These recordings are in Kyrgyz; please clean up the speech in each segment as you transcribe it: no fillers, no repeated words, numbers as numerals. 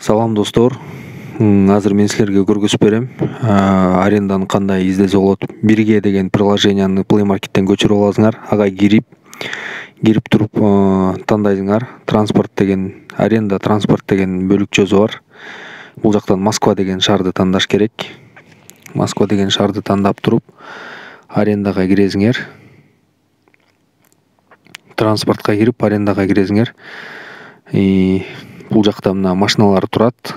Салам достор. Азыр мен силерге көргөзүп берем. Аренданы кандай издесе болот. 1G деген приложенияны Play Market'тен көчүрүп аласыңар. Ага кирип туруп тандайсыңар. Транспорт деген аренда транспорт деген бөлүкчөсү бар. Бул жактан Москва деген шаарды тандаш керек. Москва деген шаарды тандап туруп арендага киресиңер. Транспортко кирип арендага киресиңер. Бул жакта мына машиналар турат.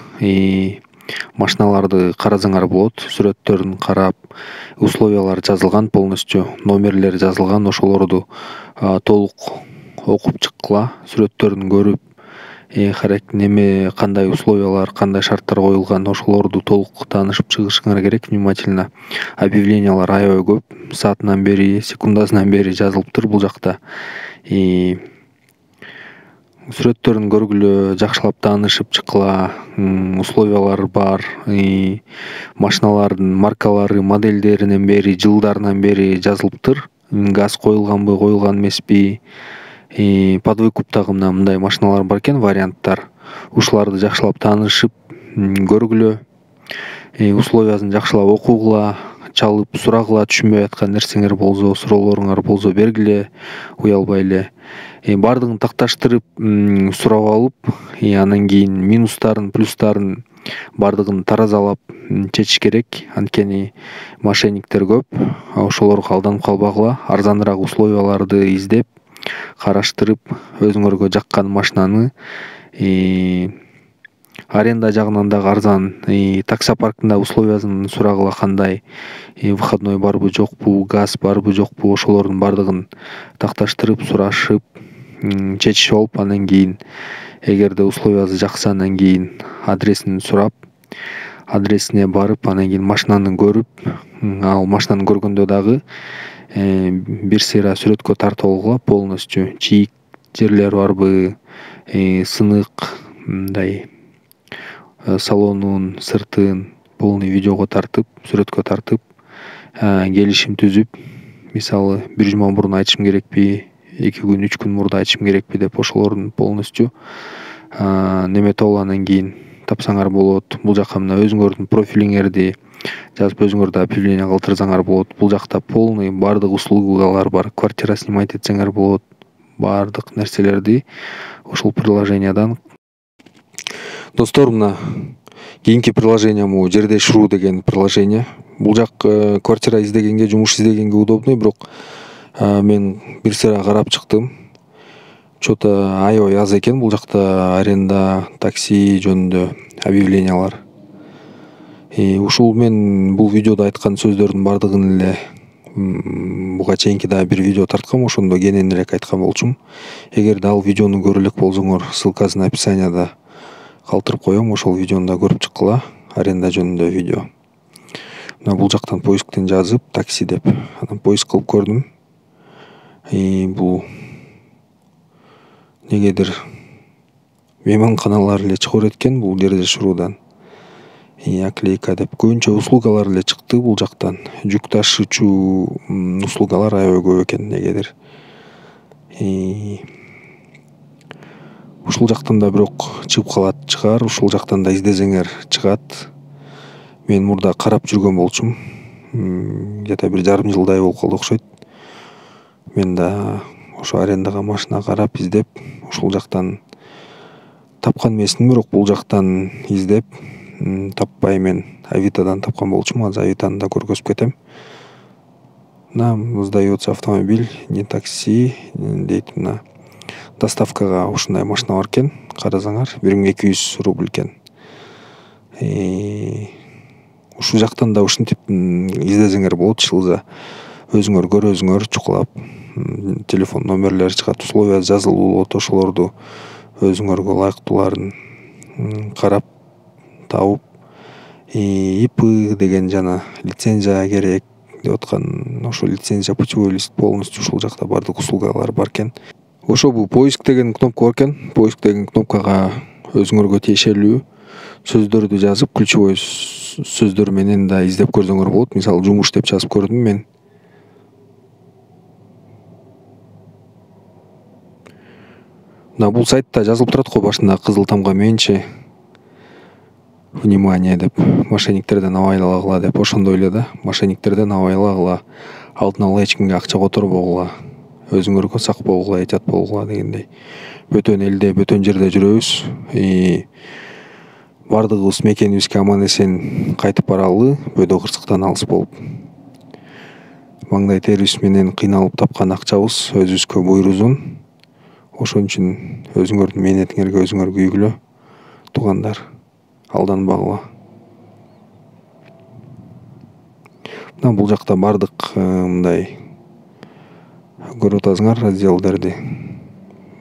Машиналарды карасаңар болот. Сүрөттөрүн карап, условиялар жазылган полностью, номерлери жазылган, ошолорду толук окуп чыккыла, сүрөттөрүн көрүп, кандай условиялар, кандай шарттар коюлган, ошолорду толук таанышып чыгышыңар керек внимательно. Объявлениялар аябай көп. Саатынан бери, секундасынан бери жазылыптыр бул жакта. Сүрөттөрүн көргүлө, жакшылап таанышып чыккыла, условиялар бар. Машиналардын маркалары, модельдеринен бери, жылдарынан бери жазылыптыр. Газ коюлганбы, коюлган эмеспи. Под выкуптагы мындай машиналар бар экен, варианттар. Ушуларды жакшылап таанышып көргүлө, условиясын жакшылап окугула, чалып сурагыла, түшүнбөй аткан нерсеңер болсо, суроолоруңар болсо бергиле, уялбай эле. Бардыгын такташтырып сурап алып, анан кийин минустарын, плюстарын бардыгын таразалап чечиш керек. Анткени мошенниктер көп. Ошолорго алданып калбагыла, арзаныраак условияларды издеп, караштырып, өзүңөргө жаккан машинаны аренда жагынан дагы арзан. Таксопарктын условиясын сурагыла, кандай выходной барбы, жокпу, газ барбы, жокпу, ошолордун бардыгын такташтырып, сурашып, чечишип алып, анан кийин эгерде условиясы жакса, анан кийин адресин сурап, адресине барып, анан кийин машинаны көрүп, ал машинаны көргөндө дагы бир сыйра сүрөткө тартып алгыла, полностью чийик жерлер барбы, сынык, мындай салонун сыртын полный видеого тартып, сүрөткө тартып, келишим түзүп, мисалы бир жума мурун айтышым керекпи, 2 күн, 3 күн мурда айтышым керекпи деп ошолордун полностью немете алып, анан кийин тапсаңар болот. Бул жака мына өзүңөрдүн профилиңерди жазып, өзүңөрдү объявление калтырсаңар болот. Бул жакта полный бардык услугалар бар. Квартира снимать этсеңер болот. Бардык нерселерди ушул приложениядан. Достор, мына кийинки приложениям Жердеш.ру деген приложение. Бул жак квартира издегенге, жумуш издегенге удобный, бирок мен бир сыйра карап чыктым. Чо-то аябай аз экен бул жакта аренда, такси жөнүндө объявлениялар. Ушул мен бул видеодо айткан сөздөрдүн бардыгын эле буга чейинки дагы бир видео тарткам, ошондо кененирээк айткан болчумун. Эгерде ал видеону көрө элек болсоңор, ссылкасын описанияда калтырып коем, ошол видеону да көрүп чыккыла, аренда жөнүндө видео. Мына бул жактан поисктен жазып, такси деп, анан поиск кылып көрдүм. Бул негедир мейманканалар эле чыгып экен бул Жердеш.рудан. Оклейка деп көбүнчө услугалар эле чыкты бул жактан. Жүк ташуучу услугалар аябай көп экен негедир. Ушул жактан да бирок чыгып калат чыгар, ушул жактан да издесеңер чыгат. Мен мурда карап жүргөн болчумун. Где-то бир жарым жылдай болуп калды окшойт. Мен да ошо арендага машина карап, издеп, ушул жактан тапкан эмесмин, бирок бул жактан издеп таппай мен Авитодан тапкан болчумун. Азыр Авитону да көргөзүп кетем. Нам сдается автомобиль, не такси дейт. Мына доставкага ушундай машина бар экен. Карасаңар 1200 рубль экен. Ушул жактан да ушинтип издесеңер болот. Шылза өзүңөр көрөсүңөр, чукулап, телефон номерлери чыгат, условия жазылуу болот. Ошолорду өзүңөргө ылайыктууларын карап табып, ИП деген жана лицензия керек деп аткан, ошо лицензия, путевой лист полностью ушул жакта бардык услугалар бар экен. Ошо бул поиск деген кнопка бар экен. Поиск деген кнопкага өзүңөргө тиешелүү сөздөрдү жазып, ключевой сөздөр менен да издеп көрсөңөр болот. Мисалы жумуш деп жазып көрдүм мен. Мына бул сайтта жазылып турат го башында кызыл тамга менчи. внимание деп, мошенниктерден абайлагыла деп, ошондой эле да, мошенниктерден абайлагыла, алдын ала эч кимге акча которбогула, өзүңөргө сак болгула, этят болгула дегендей. Бөтөн элде, бөтөн жерде жүрөбүз. Бардыгыбыз мекенибизге аман эсен кайтып баралы, бөдө кырсыктан алыс болуп. Маңдай терибиз менен кыйналып тапкан акчабыз өзүбүзгө буйрузун. Ошон үчүн өзүңөрдүн мээнетиңерге өзүңөр күйгүлө, туугандар, алданбагыла. Мына бул жакта бардык мындай көрүп атасыңар разделдерди.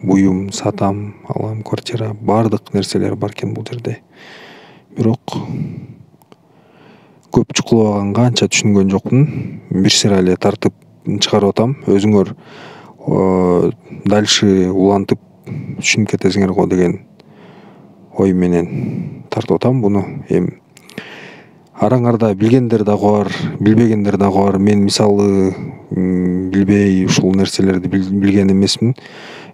Буюм, сатам, алам, квартира, бардык нерселер бар экен бул жерде. Бирок көп чукулабаганга анча түшүнгөн жокмун. Бир сыйра эле тартып чыгарып атам. Өзүңөр дальше улантып түшүнүп кетесиңер го деген ой менен тартып атам буну. Эми араңарда билгендер дагы бар, билбегендер дагы бар. Мен мисалы билбей ушул нерселерди билген эмесмин.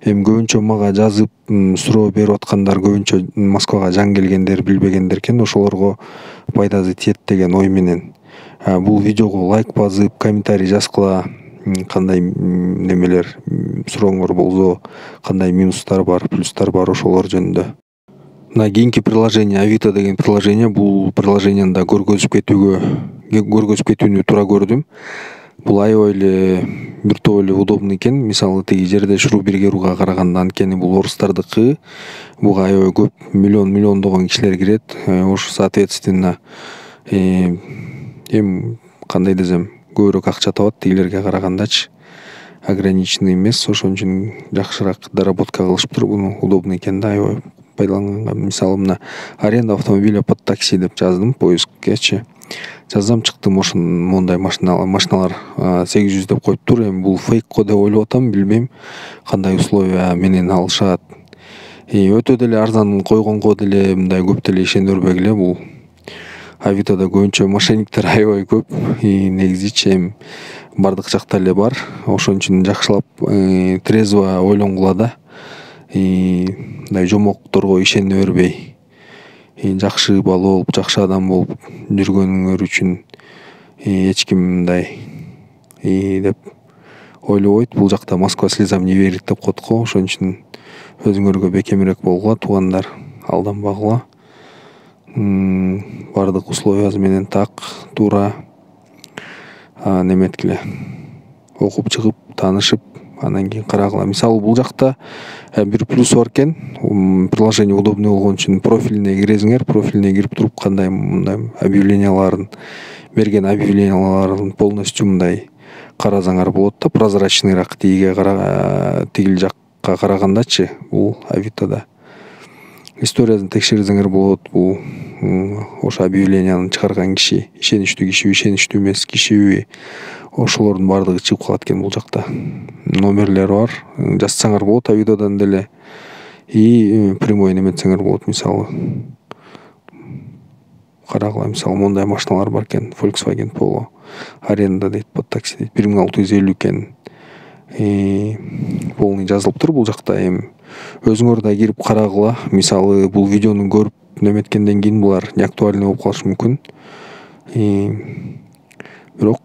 Эми көбүнчө мага жазып суроо берип аткандар көбүнчө Москвага жаңы келгендер, билбегендер экен. Ошолорго пайдасы тиет деген ой менен бул видеого лайк басып, комментарий жазгыла. Кандай немелер сурооңор болсо, кандай минустар бар, плюстар бар, ошолор жөнүндө. Мына кийинки приложение Авито деген приложение. Бул приложениени да көргөзүп кетүүнү туура көрдүм. Бул аябай эле бир топ эле удобный экен. Мисалы тиги жерде шуруу биргерууга караганда, анткени бул орустардыкы, буга аябай көп миллиондогон кишилер кирет. Ошо соответственно эми кандай десем, көбүрөөк акча табат тигилерге карагандачы. Ограниченный эмес, ошон үчүн жакшыраак доработка кылышыптыр. Буну удобный экен да, аябай пайдаланганга. Мисалы мына аренда автомобиля под такси деп жаздым поисккечи. Жазсам чыкты мондай машиналар 800 деп коюптур. Эми бул фейк го деп ойлоп атам, билбейм кандай условия менен алышат. Өтө деле арзан койгонго деле мындай көп деле ишене бербегиле. Бул Авитода көбүнчө мошенниктер аябай көп. Негизичи эми бардык жакта эле бар. Ошон үчүн жакшылап трезво ойлонгула да. Мындай жомокторго ишене бербей, жакшы бала болуп, жакшы адам болуп жүргөнүңөр үчүн эч ким мындай деп ойлобойт. Бул жакта Москва слезам не верит деп коет го. Ошон үчүн өзүңөргө бекемирээк болгула, туугандар, алданбагыла. Бардык условиясы менен так, туура неметкиле, окуп чыгып, таанышып, анан кийин карагыла. Мисалы бул жакта бир плюс бар экен. Приложение удобный болгон үчүн профилине киресиңер. Профилине кирип туруп, кандай мындай берген объявленияларын полностью мындай карасаңар болот да, прозрачныйраак тигил жакка карагандачы. Бул Авитода историясын текшерсеңер болот. Бул ошо объявленияны чыгарган киши ишеничтүү кишиби, ишеничтүү эмес кишиби, ошолордун баардыгы чыгып калат экен бул жакта. Номерлери бар, жазсаңар болот Авитодан деле. Прямой неметсеңер болот. Мисалы карагыла, мисалы мондай машиналар бар экен. Volkswagen Polo аренда дейт, под такси дейт, 1650 экен. Полный жазылыптыр бул жакта. Эми өзүңөр да кирип карагыла. Мисалы бул видеону көрүп неметкенден кийин булар не актуальный болуп калышы мүмкүн. Бирок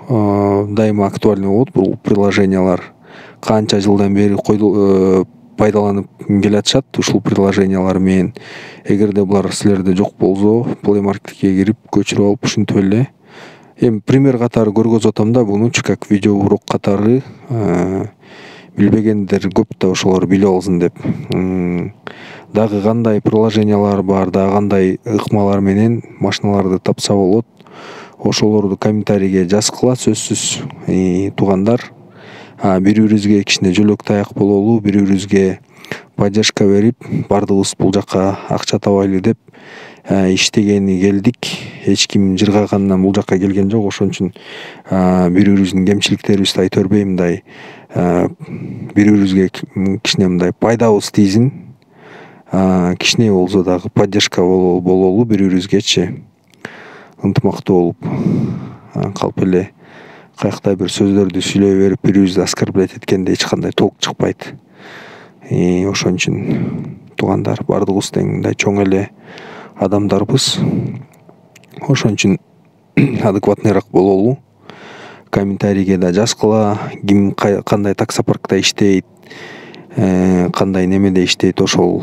дайыма актуальный болот бул приложениялар. Канча жылдан бери пайдаланып келатышат ушул приложениялар менен. Эгерде булар силерде жок болсо, Play Marketке кирип көчүрүп алып ушинтип эле. Эми пример катары көргөзүп атам да бунучу, как видео урок катары. Билбегендер көп да ошолор билип алсын деп. Дагы кандай приложениялар бар, дагы кандай ыкмалар менен машиналарды тапса болот. Ошолорду комментарийге жазгыла, сөзсүз. Туугандар, бири-бирибизге кичине жөлөк таяк бололу, бири-бирибизге поддержка берип, бардыгыбыз бул жакка акча табайлы деп иштегени келдик. Эч ким жыргагандан бул жакка келген жок. Ошон үчүн бири-бирибиздин кемчиликтерибизди айта бербей, мындай бири-бирибизге кичине мындай пайдабыз тийсин. Кичине болсо дагы поддержка бололу бири-бирибизгечи. Ынтымактуу болуп калп эле каякта бир сөздөрдү сүйлөй берип, бири-бирибизди оскорблять эткенде эч кандай толк чыкпайт. Ошон үчүн туугандар, бардыгыбыз тең мындай чоң эле адамдарбыз. Ошон үчүн адекватныйраак бололу. Комментарийге да жазгыла, ким кандай таксопаркта иштейт, кандай немеде иштейт, ошол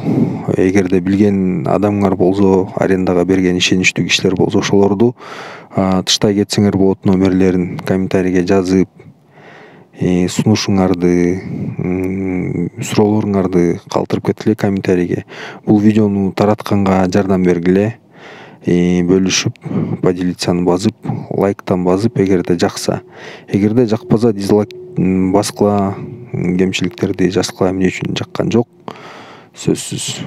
эгерде билген адамыңар болсо, арендага берген ишеничтүү кишилер болсо, ошолорду тыштай кетсеңер болот. Номерлерин комментарийге жазып, сунушуңарды, суроолоруңарды калтырып кеткиле комментарийге. Бул видеону таратканга жардам бергиле. Бөлүшүп, поделицаны басып, лайктан басып, эгерде жакса. Эгерде жакпаса, дизлайк баскыла, кемчиликтерди жазгыла, эмне үчүн жаккан жок, сөзсүз.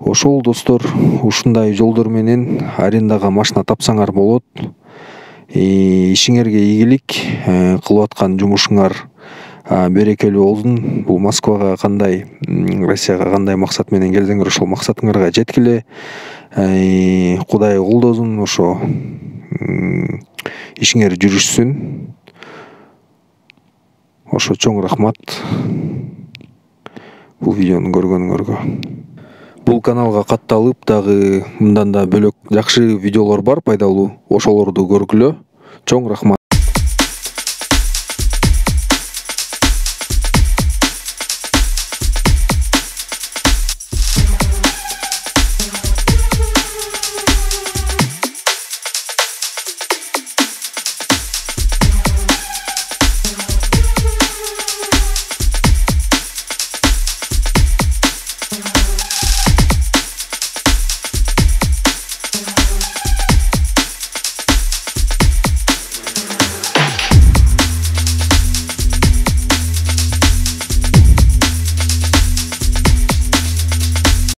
Ошол достор, ушундай жолдор менен арендага машина тапсаңар болот. Ишиңерге ийгилик, кылып аткан жумушуңар берекелүү болсун. Бул Москвага кандай, Россияга кандай максат менен келсеңер, ошол максатыңарга жеткиле. Кудай колдосун, ошо ишиңер жүрүшсүн. Ошо чоң рахмат бул видеону көргөнүңөргө. Бул каналга катталып, дагы мындан да бөлөк жакшы видеолор бар, пайдалуу. Ошолорду көргүлө. Чоң рахмат.